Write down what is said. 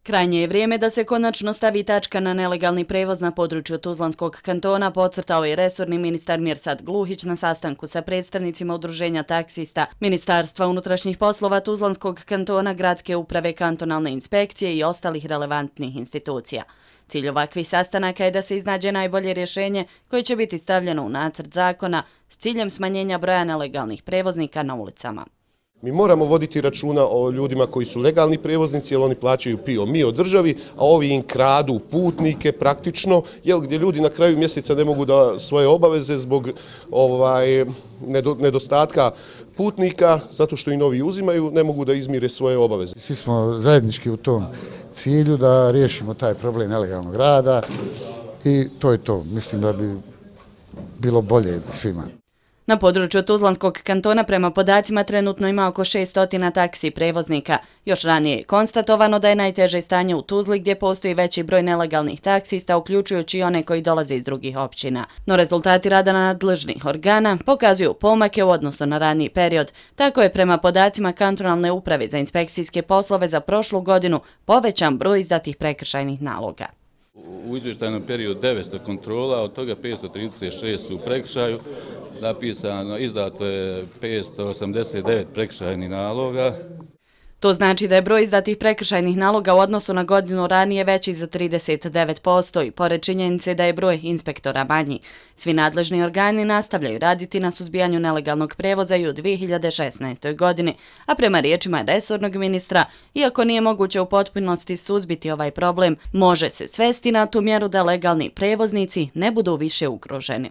Krajnje je vrijeme da se konačno stavi tačka na nelegalni prevoz na području Tuzlanskog kantona, podcrtao je resorni ministar Mirsad Gluhić na sastanku sa predstavnicima udruženja taksista, Ministarstva unutrašnjih poslova Tuzlanskog kantona, Gradske uprave, kantonalne inspekcije i ostalih relevantnih institucija. Cilj ovakvih sastanaka je da se iznađe najbolje rješenje koje će biti stavljeno u nacrt zakona s ciljem smanjenja broja nelegalnih prevoznika na ulicama. Mi moramo voditi računa o ljudima koji su legalni prevoznici, jer oni plaćaju PIO mi od državi, a ovi im kradu putnike praktično, gdje ljudi na kraju mjeseca ne mogu da svoje obaveze zbog nedostatka putnika, zato što i novi uzimaju, ne mogu da izmire svoje obaveze. Svi smo zajednički u tom cilju da riješimo taj problem nelegalnog rada i to je to. Mislim da bi bilo bolje svima. Na području Tuzlanskog kantona prema podacima trenutno ima oko 600 taksi prevoznika. Još ranije je konstatovano da je najteže stanje u Tuzli gdje postoji veći broj nelegalnih taksista, uključujući i one koji dolaze iz drugih općina. No rezultati rada nadležnih organa pokazuju pomake u odnosu na raniji period. Tako je prema podacima kantonalne uprave za inspekcijske poslove za prošlu godinu povećan broj izdatih prekršajnih naloga. U izvještajnom periodu 900 kontrola, od toga 536 su u prekršaju, izdato je 589 prekršajnih naloga. To znači da je broj izdatih prekršajnih naloga u odnosu na godinu ranije veći za 39% i pored činjenice da je broj inspektora manji. Svi nadležni organi nastavljaju raditi na suzbijanju nelegalnog prevoza i u 2016. godini, a prema riječima resornog ministra, iako nije moguće u potpunosti suzbiti ovaj problem, može se svesti na tu mjeru da legalni prevoznici ne budu više ugroženi.